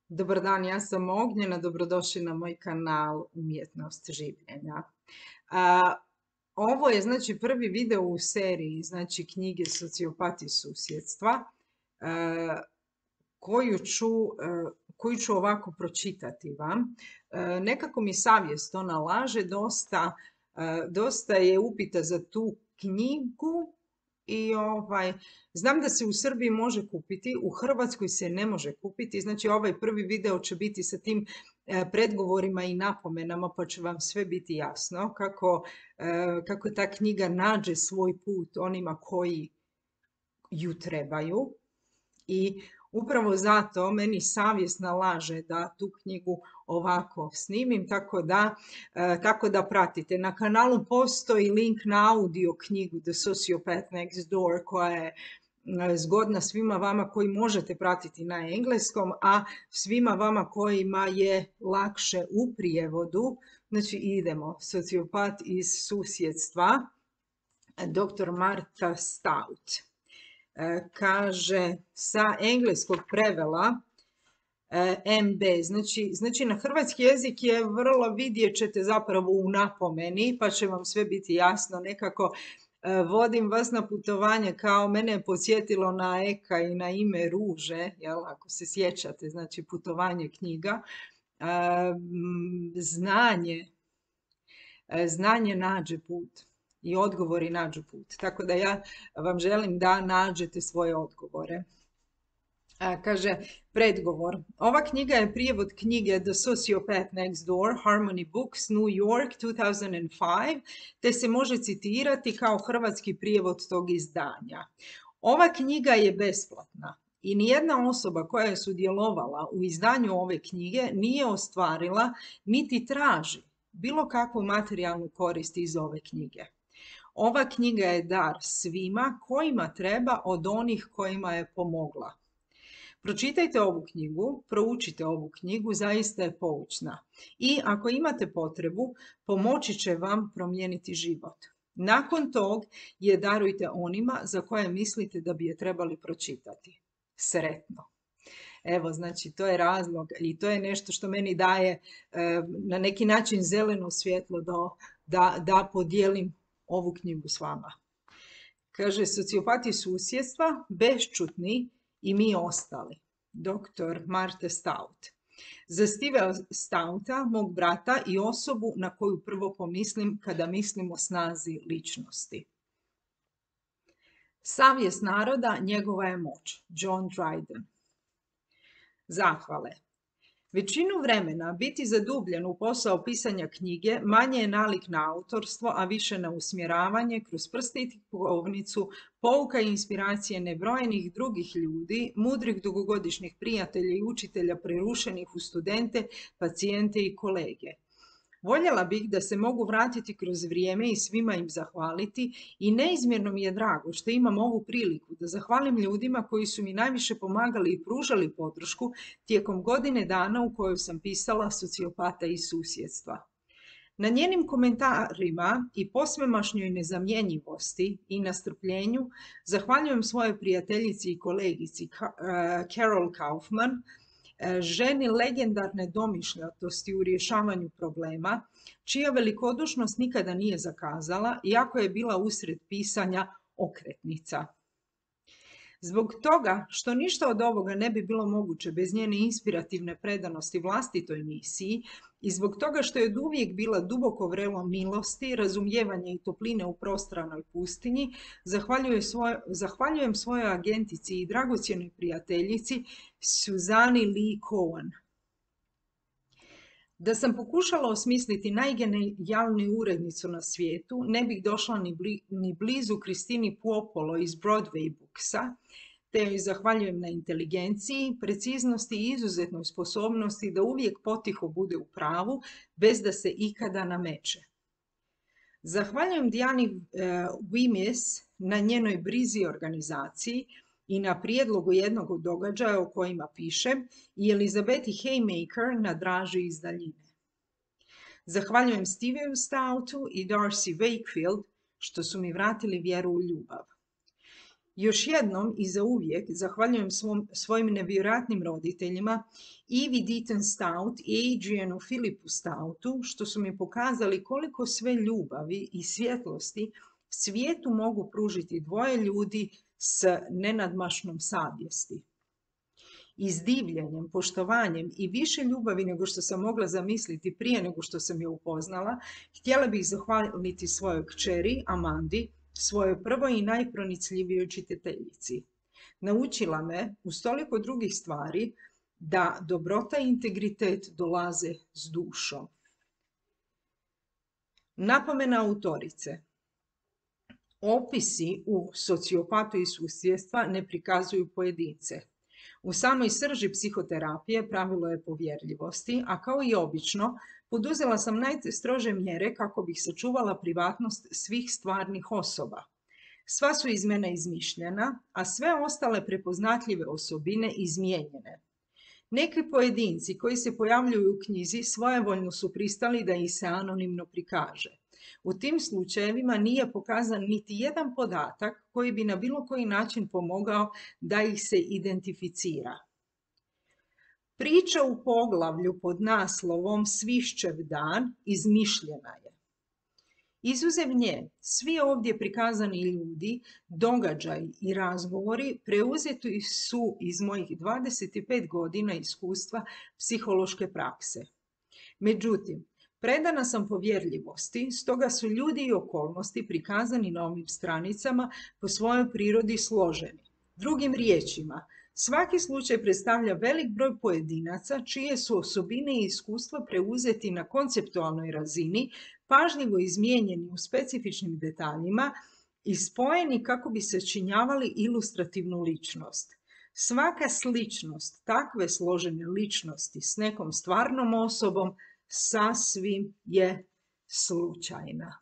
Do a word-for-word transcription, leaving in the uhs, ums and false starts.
Dobar dan, ja sam Ognjena, dobrodošli na moj kanal Umjetnost življenja. A, ovo je znači prvi video u seriji, znači knjige Sociopati susjedstva, a, koju ću, a, koju ću ovako pročitati vam. A, nekako mi savjest to nalaže, dosta, a, dosta je upita za tu knjigu. I ovaj, znam da se u Srbiji može kupiti, u Hrvatskoj se ne može kupiti, znači ovaj prvi video će biti sa tim e, predgovorima i napomenama, pa će vam sve biti jasno kako, e, kako ta knjiga nađe svoj put onima koji ju trebaju. I upravo zato meni savjest nalaže da tu knjigu ovako snimim, tako da, e, tako da pratite. Na kanalu postoji link na audio knjigu The Sociopath Next Door koja je e, zgodna svima vama koji možete pratiti na engleskom, a svima vama kojima je lakše u prijevodu. Znači idemo, Sociopat iz susjedstva, doktor Martha Stout. Kaže sa engleskog prevela M B. Znači, znači na hrvatski jezik je vrlo, vidjet ćete zapravo u napomeni, pa će vam sve biti jasno. Nekako vodim vas na putovanje kao mene je podsjetilo na Eka i na Ime ruže, jel, ako se sjećate, znači putovanje knjiga. Znanje, znanje nađe put. I odgovori nađu put. Tako da ja vam želim da nađete svoje odgovore. A, kaže, predgovor. Ova knjiga je prijevod knjige The Sociopath Next Door, Harmony Books, New York, two thousand five, te se može citirati kao hrvatski prijevod tog izdanja. Ova knjiga je besplatna i nijedna osoba koja je sudjelovala u izdanju ove knjige nije ostvarila niti traži bilo kakvu materijalnu korist iz ove knjige. Ova knjiga je dar svima kojima treba od onih kojima je pomogla. Pročitajte ovu knjigu, proučite ovu knjigu, zaista je poučna. I ako imate potrebu, pomoći će vam promijeniti život. Nakon tog je darujte onima za koje mislite da bi je trebali pročitati. Sretno. Evo, znači, to je razlog i to je nešto što meni daje e, na neki način zeleno svjetlo da, da, da podijelim ovu knjigu s vama. Kaže, Sociopati susjedstva, bešćutni i mi ostali. doktor Martha Stout. Za Stevea Stouta, mog brata i osobu na koju prvo pomislim kada mislim o snazi ličnosti. Savjest naroda, njegova je moć. John Dryden. Zahvale. Većinu vremena biti zadubljen u posao pisanja knjige manje je nalik na autorstvo, a više na usmjeravanje kroz prste i tipovnicu, pouka i inspiracije nebrojenih drugih ljudi, mudrih dugogodišnjih prijatelja i učitelja prerušenih u studente, pacijente i kolege. Voljela bih da se mogu vratiti kroz vrijeme i svima im zahvaliti i neizmjerno mi je drago što imam ovu priliku da zahvalim ljudima koji su mi najviše pomagali i pružali podršku tijekom godine dana u kojoj sam pisala Sociopata iz susjedstva. Na njenim komentarima i posvemašnjoj nezamjenjivosti i nastrpljenju zahvaljujem svojoj prijateljici i kolegici Carol Kaufman, ženi legendarne domišljatosti u rješavanju problema, čija velikodušnost nikada nije zakazala, iako je bila usred pisanja okretnica. Zbog toga što ništa od ovoga ne bi bilo moguće bez njene inspirativne predanosti vlastitoj misiji i zbog toga što je oduvijek bila duboko vrelo milosti, razumijevanja i topline u prostranoj pustinji, zahvaljujem, svoj, zahvaljujem svojoj agentici i dragocjenoj prijateljici Suzani Lee Cohen. Da sam pokušala osmisliti najgenijalniju urednicu na svijetu, ne bih došla ni, bli, ni blizu Kristini Puopolo iz Broadway Booksa, te joj zahvaljujem na inteligenciji, preciznosti i izuzetnoj sposobnosti da uvijek potiho bude u pravu, bez da se ikada nameće. Zahvaljujem Dijani uh, Wimmis na njenoj brizi organizaciji i na prijedlogu jednog od događaja o kojima piše i Elizabeti Haymaker na draži iz daljine. Zahvaljujem Steveu Stoutu i Darcy Wakefield što su mi vratili vjeru u ljubav. Još jednom i zauvijek zahvaljujem svom, svojim nevjerojatnim roditeljima Ivi Deaton Stout i Adrianu Philipu Stoutu, što su mi pokazali koliko sve ljubavi i svjetlosti svijetu mogu pružiti dvoje ljudi s nenadmašnom savjesti. I s divljenjem, poštovanjem i više ljubavi nego što sam mogla zamisliti prije nego što sam je upoznala, htjela bih zahvaliti svojoj kćeri Amandi, svojoj prvoj i najpronicljivijoj čitateljici. Naučila me, uz toliko drugih stvari, da dobrota i integritet dolaze s dušom. Napomena autorice. Opisi u Sociopatu i susjedstva ne prikazuju pojedince. U samoj srži psihoterapije pravilo je povjerljivosti, a kao i obično, poduzela sam najstrože mjere kako bih sačuvala privatnost svih stvarnih osoba. Sva su iz mene izmišljena, a sve ostale prepoznatljive osobine izmijenjene. Neki pojedinci koji se pojavljuju u knjizi svojevoljno su pristali da ih se anonimno prikaže. U tim slučajevima nije pokazan niti jedan podatak koji bi na bilo koji način pomogao da ih se identificira. Priča u poglavlju pod naslovom Svišćev dan izmišljena je. Izuzev nje, svi ovdje prikazani ljudi, događaji i razgovori preuzeti su iz mojih dvadeset pet godina iskustva psihološke prakse. Međutim, predana sam povjerljivosti, stoga su ljudi i okolnosti prikazani na ovim stranicama po svojoj prirodi složeni. Drugim riječima, svaki slučaj predstavlja velik broj pojedinaca čije su osobine i iskustva preuzeti na konceptualnoj razini, pažljivo izmijenjeni u specifičnim detaljima i spojeni kako bi se činjavali ilustrativnu ličnost. Svaka sličnost takve složene ličnosti s nekom stvarnom osobom sasvim je slučajna.